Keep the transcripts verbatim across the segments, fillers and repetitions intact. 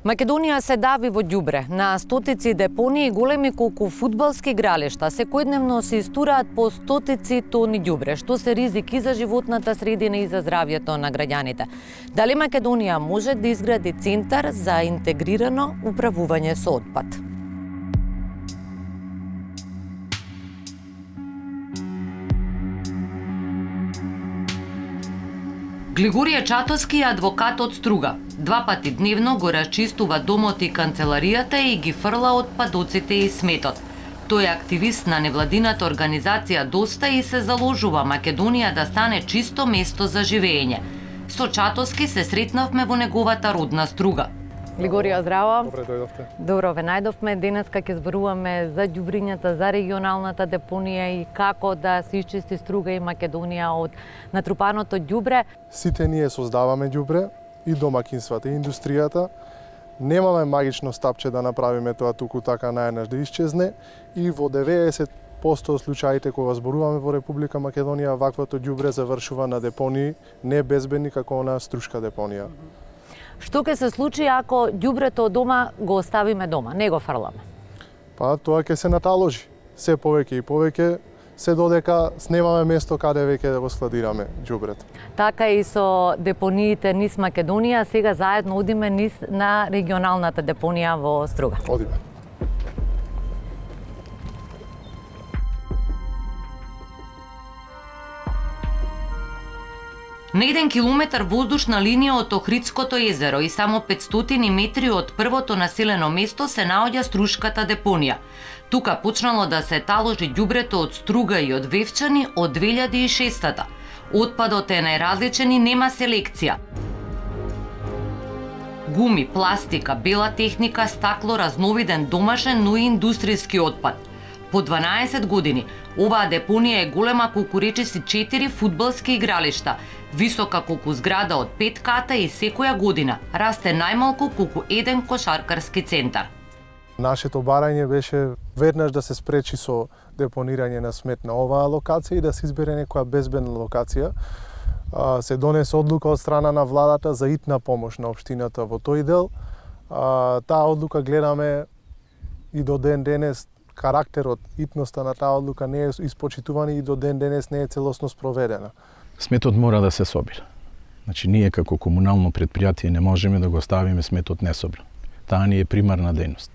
Македонија се дави во ѓубре. На стотици депонии големи колку фудбалски игралишта секојдневно се истураат по стотици тони ѓубре, што се ризики за животната средина и за здравјето на граѓаните. Дали Македонија може да изгради центар за интегрирано управување со отпад? Глигорија Чатовски е адвокат од Струга. Два пати дневно го расчистува домот и канцеларијата и ги фрла отпадоците и сметот. Тој е активист на невладината организација Доста и се заложува Македонија да стане чисто место за живење. Со Чатовски се сретнавме во неговата родна Струга. Глигорија, здраво. Добре дојдовте. Добро ве најдовме. Денеска ќе зборуваме за ѓубрињата, за регионалната депонија и како да се исчисти Струга и Македонија од натрупаното ѓубре. Сите ние создаваме ѓубре, и домакинствата, и индустријата. Немаме магично стапче да направиме тоа туку така најнаш да исчезне и во деветдесет проценти од случаите кога зборуваме во Република Македонија, ваквото ѓубре завршува на депонии не безбедни како на Струшка депонија. Што ќе се случи ако ѓубрето од дома го оставиме дома, не го фрламе? Па тоа ќе се наталожи. Се повеќе и повеќе, се додека снемаме место каде веќе да го складираме ѓубрето. Така и со депониите низ Македонија, сега заедно одиме низ на регионалната депонија во Струга. Одиме. На еден километар воздушна линија од Охридското езеро и само петстотини метри од првото населено место се наоѓа Струшката депонија. Тука почнало да се таложи ѓубрето од Струга и од Вевчани од две илјади и шеста. Отпадот е најразличен и нема селекција. Гуми, пластика, бела техника, стакло, разновиден домашен, но и индустријски отпад. По дванаесет години, оваа депонија е голема колку речиси четири фудбалски игралишта, висока колку зграда од пет ката и секоја година расте најмалку колку еден кошаркарски центар. Нашето барање беше веднаш да се спречи со депонирање на смет на оваа локација и да се избере некоја безбедна локација. Се донесе одлука од страна на владата за итна помош на општината во тој дел. Таа одлука гледаме и до ден денес карактерот, итноста на таа одлука не е испочитувана и до ден денес не е целосно спроведена. Сметот мора да се собира. Значи, ние како комунално предпријатие не можеме да го ставиме сметот несобран. Таа ни е примарна дејност.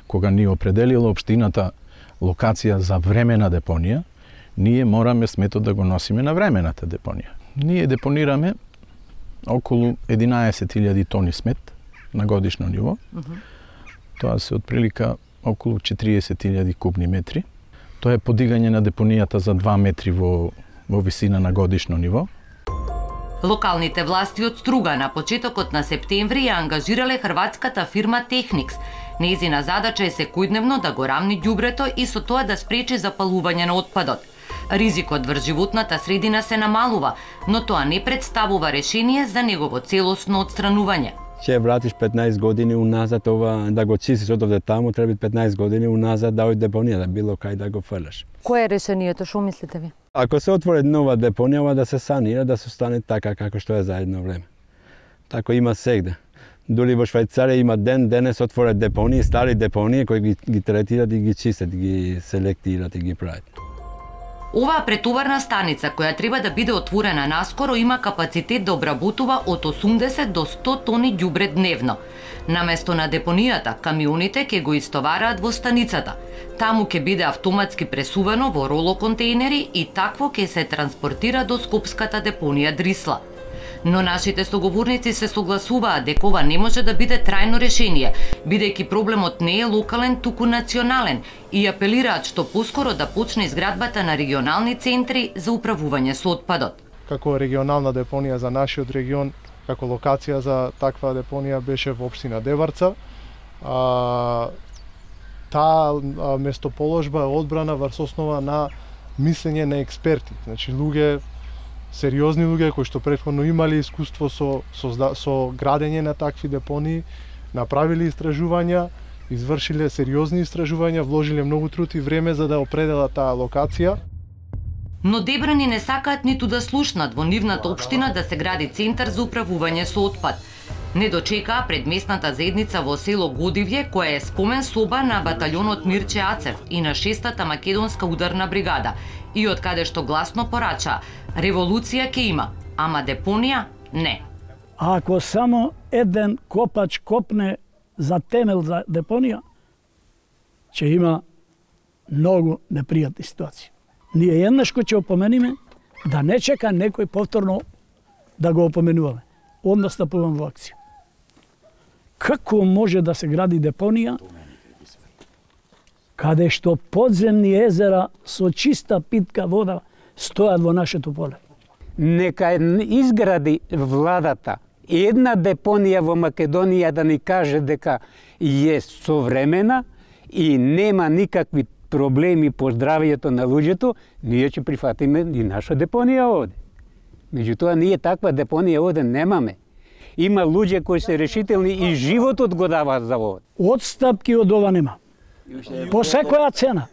Кога ни определила општината локација за времена депонија, ние мораме сметот да го носиме на времената депонија. Ние депонираме околу единаесет илјади тони смет на годишно ниво. Mm-hmm. Тоа се отприлика околу четириесет илјади кубни метри. Тоа е подигање на депонијата за два метри во, во висина на годишно ниво. Локалните власти од Струга на почетокот на септември ја ангажирале хрватската фирма Техникс. Нејзина задача е секојдневно да го рамни ѓубрето и со тоа да спречи запалување на отпадот. Ризикот врз животната средина се намалува, но тоа не представува решение за негово целосно отстранување. Ќе вратиш петнаесет години уназад, ова да го чистиш од овде таму, треба петнаесет години уназад да од депонија, да било кај да го фрлаш. Кое е решението, што мислите ви? Ако се отвори нова депонија, ова да се санира, да се остане така како што е за едно време. Тако има сегде. Дури во Швајцарија има ден денес отворат депонии, стари депонии кои ги, ги третираат и ги чистат, ги селектираат и ги прават. Оваа претоварна станица, која треба да биде отворена наскоро, има капацитет да обработува од осумдесет до сто тони ѓубре дневно. Наместо на депонијата, камионите ќе го истовараат во станицата. Таму ќе биде автоматски пресувано во роло контејнери и такво ќе се транспортира до скопската депонија Дрисла. Но нашите соговорници се согласуваат дека ова не може да биде трајно решение, бидејќи проблемот не е локален, туку национален, и апелираат што поскоро да почне изградбата на регионални центри за управување со отпадот. Како регионална депонија за нашиот регион, како локација за таква депонија беше во општина Деварца. А, таа местоположба е одбрана врз основа на мислење на експерти, значи луѓе, сериозни луѓе кои што претходно имале искуство со, со, со градење на такви депонии, направиле истражувања, извршиле сериозни истражувања, вложиле многу труд и време за да определат таа локација. Но дебрани не сакаат ниту да слушнат во нивната општина да се гради центар за управување со отпад. Не дочекаа пред местната заедница во село Годивје, која е спомен соба на баталјонот Мирче Ацев и на шестата македонска ударна бригада, и од каде што гласно порача: револуција ќе има, ама депонија не. А ако само еден копач копне за темел за депонија, ќе има многу непријатни ситуации. Ние еднаш кој ќе опомениме, да не чека некој повторно да го опоменуваме. Одма стапувам во акција. Како може да се гради депонија каде што подземни езера со чиста питка вода стојат во нашето поле? Нека изгради владата една депонија во Македонија, да ни каже дека е современа и нема никакви проблеми по здравието на луѓето, ние ќе прифатиме и наша депонија овде. Меѓутоа, ние таква депонија овде немаме. Има луѓе кои се решителни и животот го даваат за овде. Отстапки од ова нема. По секоја цена.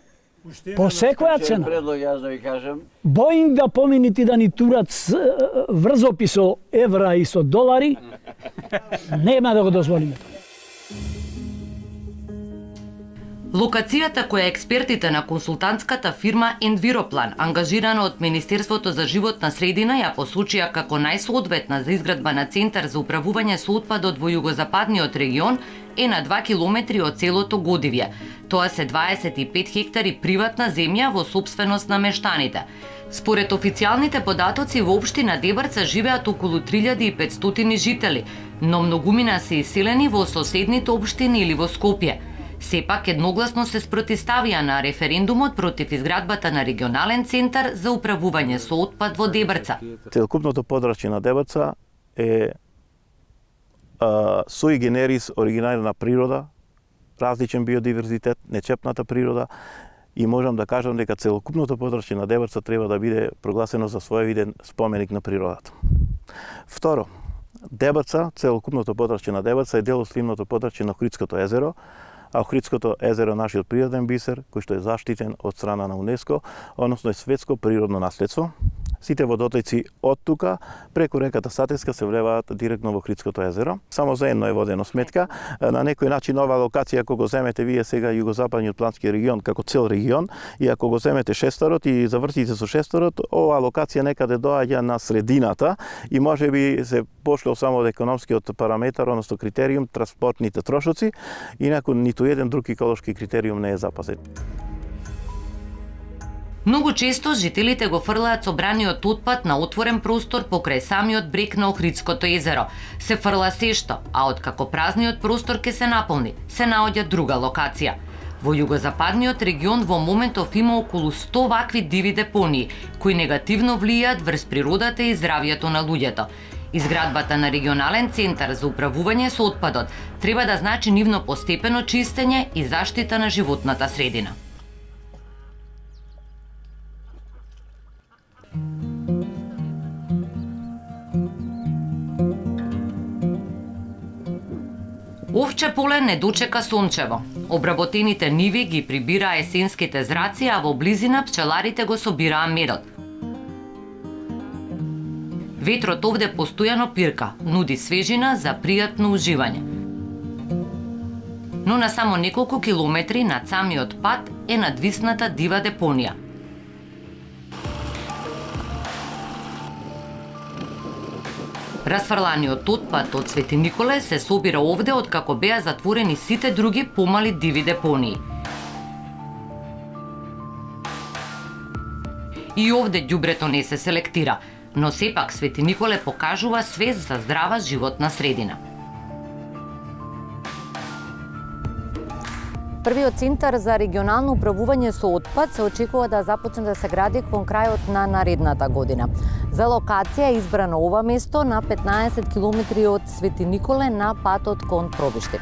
По секоја цена. Боинг да поминити да ни турат врзопи со евра и со долари, нема да го дозволиме. Локацијата која експертите на консултантската фирма Enviroplan, ангажирана од Министерството за животна средина, ја посочија како најсоодветна за изградба на центар за управување со отпадот во југозападниот регион, е на два километри од селото Годивје. Тоа се дваесет и пет хектари приватна земја во сопственост на мештаните. Според официјалните податоци во општина Дебарца живеат околу три илјади и петстотини жители, но многумина се иселени во соседните општини или во Скопје. Сепак едногласно се спротивставија на референдумот против изградбата на регионален центар за управување со отпад во Дебарца. Целокупното подрачје на Дебарца е суи генерис оригинална природа, различен биодиверзитет, нечепната природа, и можам да кажам дека целокупното подрачје на Дебарца треба да биде прогласено за своевиден споменик на природата. Второ, Дебарца, целокупното подрачје на Дебарца е дел од сливното подрачје на Охридското езеро, а Охридското езеро е нашиот природен бисер, кој што е заштитен од страна на УНЕСКО, односно е светско природно наследство. Сите водотоци од тука, преку реката Сатеска, се влеваат директно во Охридското езеро. Само за едно е водено сметка. На некој начин ова локација, ако го земете вие сега југозападниот плански регион како цел регион, и ако го земете шесторот и завртите со шесторот, ова локација некаде доаѓа на средината и можеби се пошло само од економскиот параметар, односно критериум, транспортните трошоци, инаку ниту еден друг еколошки критериум не е запазен. Многу често жителите го фрлаат собраниот отпад на отворен простор покрај самиот брег на Охридското езеро. Се фрла сешто, а откако празниот простор ќе се наполни, се наоѓа друга локација. Во југозападниот регион во моментов има околу сто вакви диви депонии, кои негативно влијаат врз природата и здравјето на луѓето. Изградбата на регионален центар за управување со отпадот треба да значи нивно постепено чистење и заштита на животната средина. Овче поле не дочека сончево. Обработените ниви ги прибираа есенските зраци, а во близина пчеларите го собираа медот. Ветрот овде постојано пирка, нуди свежина за пријатно уживање. Но на само неколку километри над самиот пат е надвисната дива депонија. Расфрланиот отпад од Свети Николе се собира овде откако беа затворени сите други помали диви депонии. И овде ѓубрето не се селектира, но сепак Свети Николе покажува свест за здрава животна средина. Првиот центар за регионално управување со отпад се очекува да започне да се гради кон крајот на наредната година. За локација е избрано ова место на петнаесет километри од Свети Николе на патот кон Пробиштеп.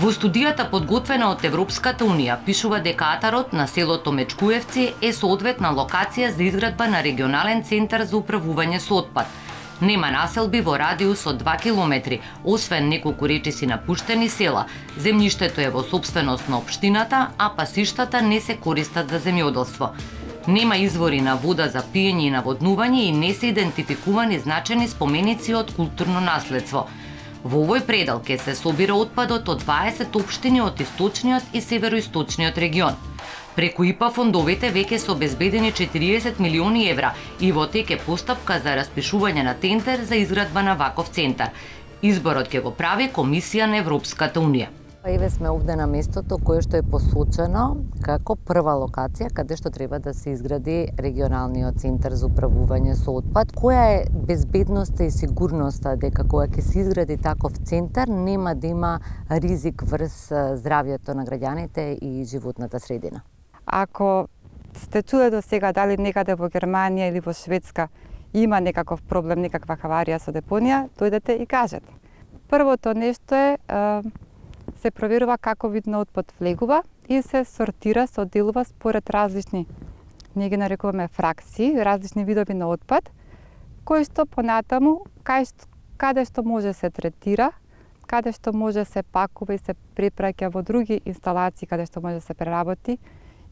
Во студијата подготвена од Европската Унија пишува дека атарот на селото Мечкуевци е соодветна локација за изградба на регионален центар за управување со отпад. Нема населби во радиус од два километри, освен неколку речиси напуштени села. Земјиштето е во сопственост на општината, а пасиштата не се користат за земјоделство. Нема извори на вода за пиење и наводнување и не се идентификувани значени споменици од културно наследство. Во овој предел ќе се собира отпадот од дваесет општини од источниот и североисточниот регион. Преку ИПА фондовите веќе се обезбедени четириесет милиони евра и во тек е постапка за распишување на тендер за изградба на ваков центар. Изборот ќе го прави Комисија на Европската Унија. Еве сме овде на местото кое што е посочено како прва локација каде што треба да се изгради регионалниот центар за управување со отпад. Која е безбедноста и сигурноста дека кога ќе се изгради таков центар нема да има ризик врз здравјето на граѓаните и животната средина? Ако сте чуле до сега дали некаде во Германија или во Шведска има некаков проблем, некаква хаварија со депонија, дојдете и кажете. Првото нешто е се проверува како вид на отпад влегува и се сортира, се одделува според различни, ние ги нарекуваме фракции, различни видови на отпад, кои што понатаму, каде што може се третира, каде што може се пакува и се препраќа во други инсталации, каде што може се преработи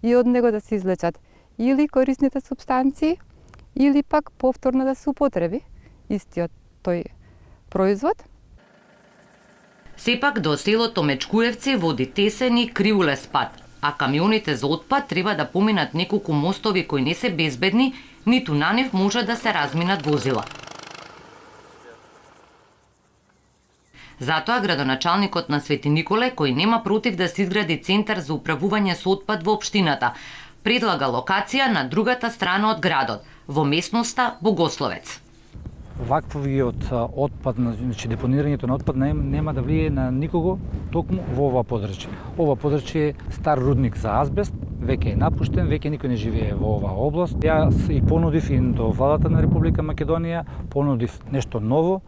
и од него да се излечат или корисните супстанции, или пак повторно да се употреби истиот тој производ. Сепак до селото Мечкуевци води тесен и кривулес пат, а камионите за отпад треба да поминат неколку мостови кои не се безбедни, ниту на нив може да се разминат возила. Затоа градоначалникот на Свети Николе, кој нема против да се изгради центар за управување со отпад во општината, предлага локација на другата страна од градот, во местноста Богословец. Ваквиот отпад, значи депонирањето на отпад нема да влие на никого токму во ова подрачје. Ова подрачје е стар рудник за азбест, веќе е напуштен, веќе никој не живее во оваа област. Јас и понудив и до владата на Република Македонија, понудив нешто ново.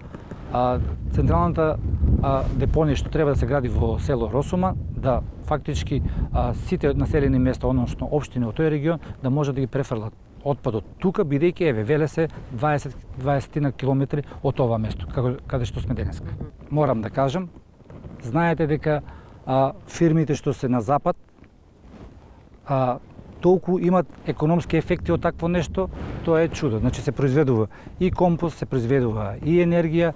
А, централната а, депонија што треба да се гради во село Росума, да фактички а, сите населени места, односно општини во тој регион, да може да ги префрлат отпадот тука, бидејќи еве веле се дваесет дваесет километри од ова место, како каде што сме денеска. Морам да кажам, знаете дека а, фирмите што се на запад а, толку имат економски ефекти од такво нешто, тоа е чудо. Значи се произведува и компост, се произведува и енергија,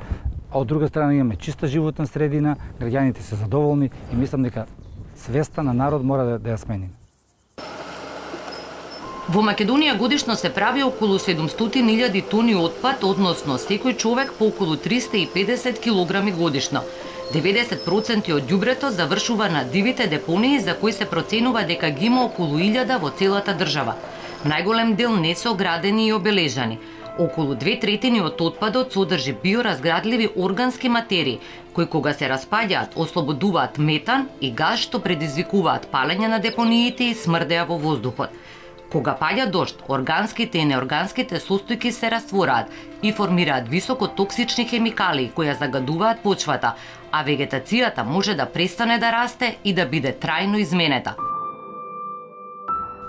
а од друга страна имаме чиста животна средина, граѓаните се задоволни и мислам дека свеста на народ мора да, да ја смениме. Во Македонија годишно се прави околу седумстотини илјади тони отпад, односно секој човек по околу триста и педесет килограми годишно. деветдесет проценти од ѓубрето завршува на дивите депонии за кои се проценува дека ги има околу илјада во целата држава. Најголем дел не се оградени и обележани. Околу две третини од отпадот содржи биоразградливи органски материи, кои кога се распаѓаат ослободуваат метан и газ што предизвикуваат палење на депониите и смрдеа во воздухот. Кога паѓа дожд, органските и неорганските состојки се раствораат и формираат високо токсични хемикалии кои ја загадуваат почвата, а вегетацијата може да престане да расте и да биде трајно изменета.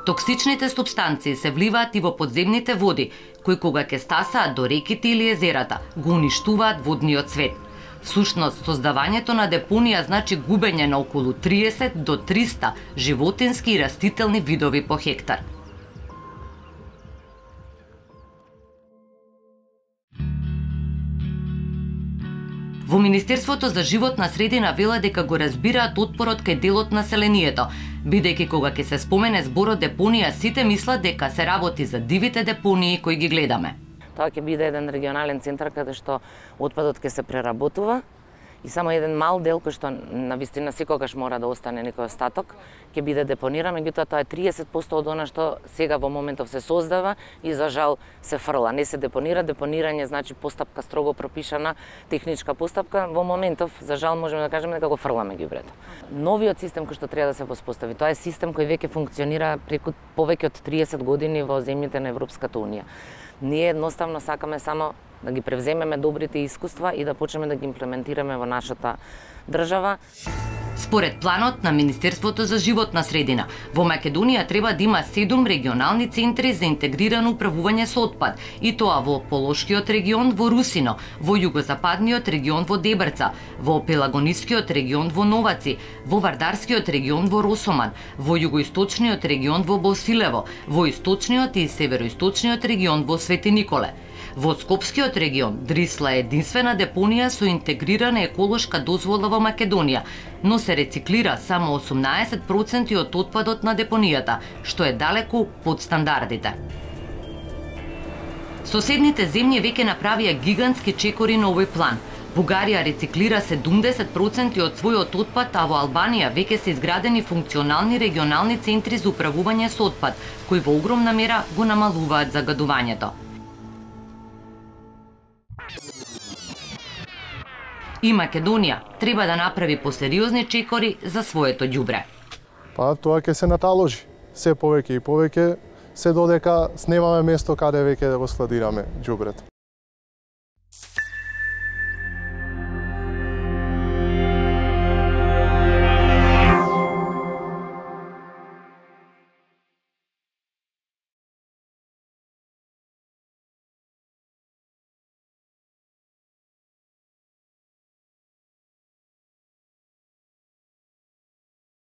Токсичните супстанции се вливаат и во подземните води, кои кога ќе стасаат до реките или езерата, го уништуваат водниот свет. Всушност, создавањето на депонија значи губење на околу триесет до триста животински и растителни видови по хектар. Во Министерството за животна средина вела дека го разбираат отпорот кај дел од населението, бидејќи кога ќе се спомене зборот депонија, сите мислат дека се работи за дивите депонии кои ги гледаме. Тоа ќе биде еден регионален центар каде што отпадот ќе се преработува и само еден мал дел кој што на вистина секогаш мора да остане некој остаток ќе биде депониран, меѓутоа тоа е триесет проценти од она што сега во моментов се создава и за жал се фрла, не се депонира. Депонирање значи постапка строго пропишана, техничка постапка. Во моментов за жал можеме да кажеме дека го фрламе ѓубрето. Новиот систем кој што треба да се воспостави, тоа е систем кој веќе функционира преку повеќе од триесет години во земјите на Европската Унија. Ние едноставно сакаме само да ги превземеме добрите искуства и да почнеме да ги имплементираме во нашата држава. Според планот на Министерството за животна средина, во Македонија треба да има седум регионални центри за интегрирано управување со отпад, и тоа во Полошкиот регион во Русино, во југозападниот регион во Дебрца, во Пелагонискиот регион во Новаци, во Вардарскиот регион во Росоман, во југоисточниот регион во Босилево, во источниот и североисточниот регион во Свети Николе. Во Скопскиот регион Дрисла е единствена депонија со интегрирана еколошка дозвола во Македонија, но се рециклира само осумнаесет проценти од отпадот на депонијата, што е далеку под стандардите. Соседните земји веќе направија гигантски чекори на овој план. Бугарија рециклира седумдесет проценти од својот отпад, а во Албанија веќе се изградени функционални регионални центри за управување со отпад, кои во огромна мера го намалуваат загадувањето. И Македонија треба да направи посериозни чекори за своето ѓубре. Па тоа ќе се наталожи. Се повеќе и повеќе, се додека снемаме место каде веќе да го складираме ѓубрето.